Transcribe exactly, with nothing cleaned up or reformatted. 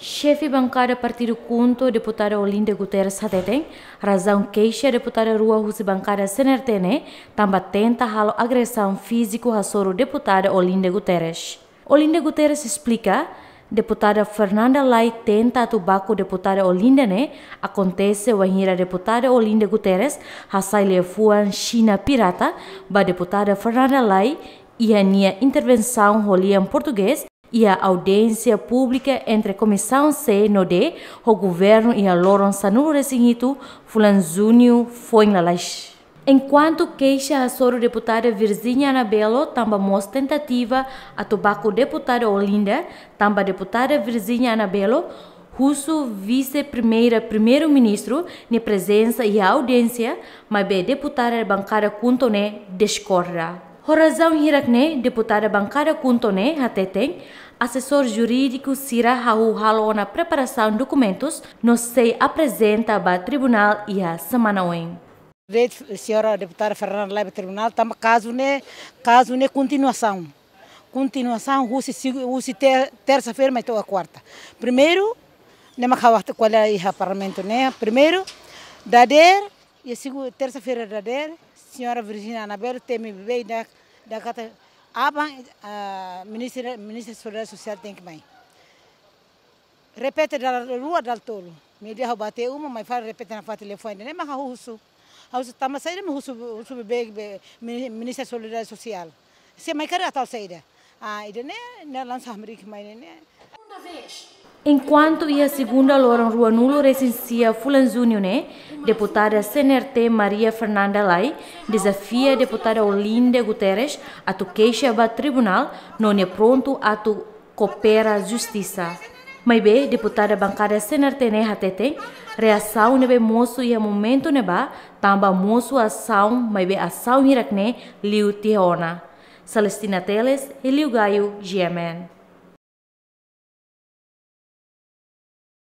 Xefe bankada partidu KHUNTO, deputada Olinda Guterres hateten, razaun keixa deputada rua husi bankada C N R T ne'e tanba tenta halo agresaun fíziku hasoru deputada Olinda Guterres. Olinda Guterres esplika, deputada Fernanda Lay tenta atu baku deputada Olinda ne'e akontese wainhira deputada Olinda Guterres hasai liafuan Xina pirata ba deputada Fernanda Lay iha nia intervensaun ho lian portugés iha audiénsia públika entre Komisaun C no D ho governu iha loron sanulu-resin-hitu fulan Juñu foin lalais. Enkuantu keixa hasoru deputada Virginia Anabelo tanba mós tentativa atu baku deputada Olinda, tanba deputada Virginia Anabelo husu vise-primeira primeiru-ministru nia prezensa iha audiénsia, maibé deputada bankada KHUNTO ne'e diskorda. Ho razaun hirak ne'e, deputada bankada KHUNTO ne'e hateten, asesór jurídiku sira hahú halo ona preparasaun dokumentus no sei aprezenta ba tribunál iha semana oin. Reit señora deputada Fernanda Lay ba tribunál, tanba kazu ne'e, kazu ne'e kontinuasaun. Kontinuasaun husi segu-, husi ter-, tersa-feira mai to'o kuarta. Primeiru, ne'e mak ha'u hatete ko'alia iha parlamentu ne'e. Primeiru, dadeer, iha segu-, tersa-feira dadeer, señora Virginia Anabelo temi beibeik ida, ida katak aban, ah, ministra, ministra Solidariedade Sosiál tenke mai. Repete dala rua dala tolu. Media ha'u bá tiha uma, mai fali repete nafatin liafuan ida-ne'e mak ha'u husu. Ha'u husu tanba saida mak husu, husu beibeik, be, mini-, ministra Solidariedade Sosiál. Se mai karik atu halo saida. Ah, ida-ne'e, ne'e lansa hamriik mai ne'e. Enkuantu iha segunda loron ruanulu-resin-sia fulan Juñu ne'e, deputada C N R T Maria Fernanda Lay dezafia deputada Olinda Guterres atu keixa ba tribunál no nia prontu atu koopera justisa. Maibé, deputada bankada C N R T ne'e hateten, reasaun ne'ebé mosu iha momentu ne'ebá tanba mosu asaun, maibé asaun hirak ne'e liu tiha ona. Celestina Teles, Helio Gaio, G M N.